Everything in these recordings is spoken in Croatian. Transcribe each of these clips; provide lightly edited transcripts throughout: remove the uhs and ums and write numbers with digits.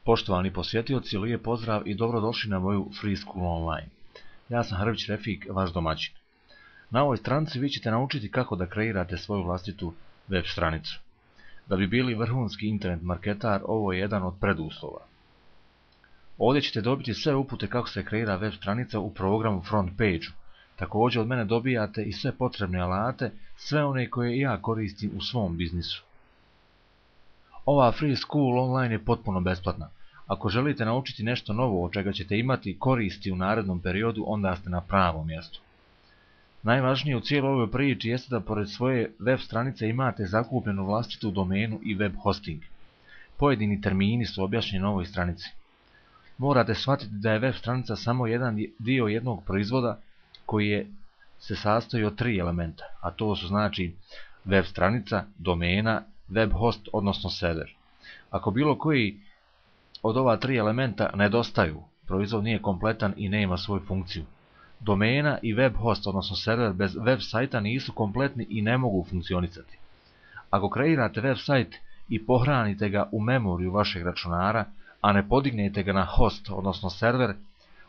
Poštovani posjetioci, lijep pozdrav i dobrodošli na moju Free School Online. Ja sam Hrvić Refik, vaš domaćin. Na ovoj stranici vi ćete naučiti kako da kreirate svoju vlastitu web stranicu. Da bi bili vrhunski internet marketar, ovo je jedan od preduslova. Ovdje ćete dobiti sve upute kako se kreira web stranica u programu FrontPage-u. Također od mene dobijate i sve potrebne alate, sve one koje ja koristim u svom biznisu. Ova Free School Online je potpuno besplatna. Ako želite naučiti nešto novo od čega ćete imati koristi u narednom periodu, onda ste na pravom mjestu. Najvažnije u cijeloj ovoj priči jeste da pored svoje web stranice imate zakupljenu vlastitu domenu i web hosting. Pojedini termini su objašnjeni na ovoj stranici. Morate shvatiti da je web stranica samo jedan dio jednog proizvoda koji se sastoji od 3 elementa, a to su znači web stranica, domena, web host odnosno server. Ako bilo koji od ova 3 elementa nedostaju, proizvod nije kompletan i nema svoju funkciju. Domena i web host odnosno server bez web sajta nisu kompletni i ne mogu funkcionisati. Ako kreirate web sajt i pohranite ga u memoriju vašeg računara, a ne podignete ga na host odnosno server,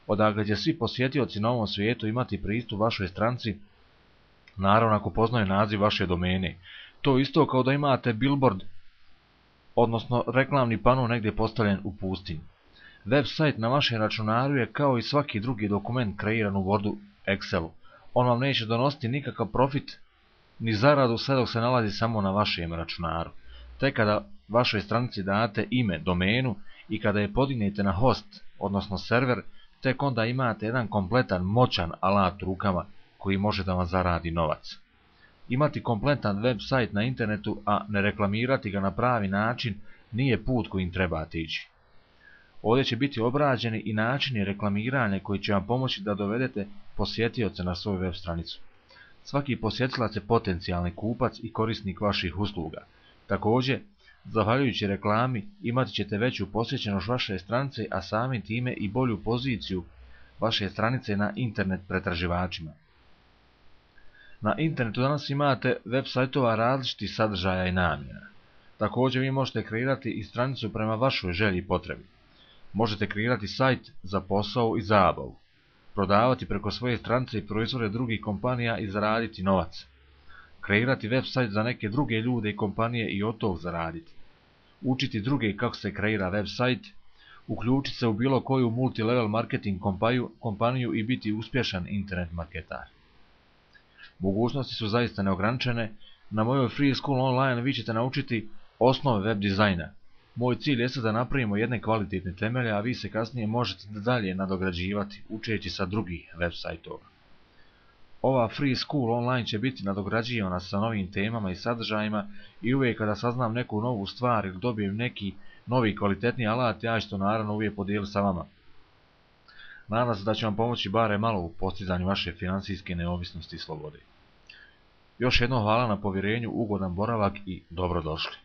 odakle će svi posjetioci na ovom svijetu imati pristup vašoj stranici, naravno ako poznaju naziv vaše domene. To isto kao da imate billboard, odnosno reklamni pano negdje postavljen u pustinji. Web sajt na vašem računaru je kao i svaki drugi dokument kreiran u Wordu, Excelu. On vam neće donositi nikakav profit ni zaradu sve dok se nalazi samo na vašem računaru. Tek kada vašoj stranici date ime, domenu i kada je podignete na host, odnosno server, tek onda imate jedan kompletan moćan alat u rukama koji može da vam zaradi novac. Imati kompletan web sajt na internetu, a ne reklamirati ga na pravi način, nije put kojim trebate ići. Ovdje će biti obrađeni i načini reklamiranja koji će vam pomoći da dovedete posjetioce na svoju web stranicu. Svaki posjetilac je potencijalni kupac i korisnik vaših usluga. Također, zahvaljujući reklami imat ćete veću posjećenost vaše stranice, a samim time i bolju poziciju vaše stranice na internet pretraživačima. Na internetu danas imate web sajtova različitih sadržaja i namjena. Također vi možete kreirati i stranicu prema vašoj želji i potrebi. Možete kreirati sajt za posao i zabavu, prodavati preko svoje stranice i proizvode drugih kompanija i zaraditi novac. Kreirati web sajt za neke druge ljude i kompanije i od tog zaraditi. Učiti druge kako se kreira web sajt, uključiti se u bilo koju multilevel marketing kompaniju i biti uspješan internet marketar. Mogućnosti su zaista neograničene. Na mojoj Free School Online vi ćete naučiti osnove web dizajna. Moj cilj jeste da napravimo jedne kvalitetne temelje, a vi se kasnije možete dalje nadograđivati učeći sa drugih web sajtova. Ova Free School Online će biti nadograđivana sa novim temama i sadržajima i uvijek kada saznam neku novu stvar ili dobijem neki novi kvalitetni alat, ja ću to naravno uvijek podijeliti sa vama. Nadam se da će vam pomoći bare malo u postizanju vaše financijske neovisnosti i slobode. Još jednom hvala na povjerenju, ugodan boravak i dobrodošli.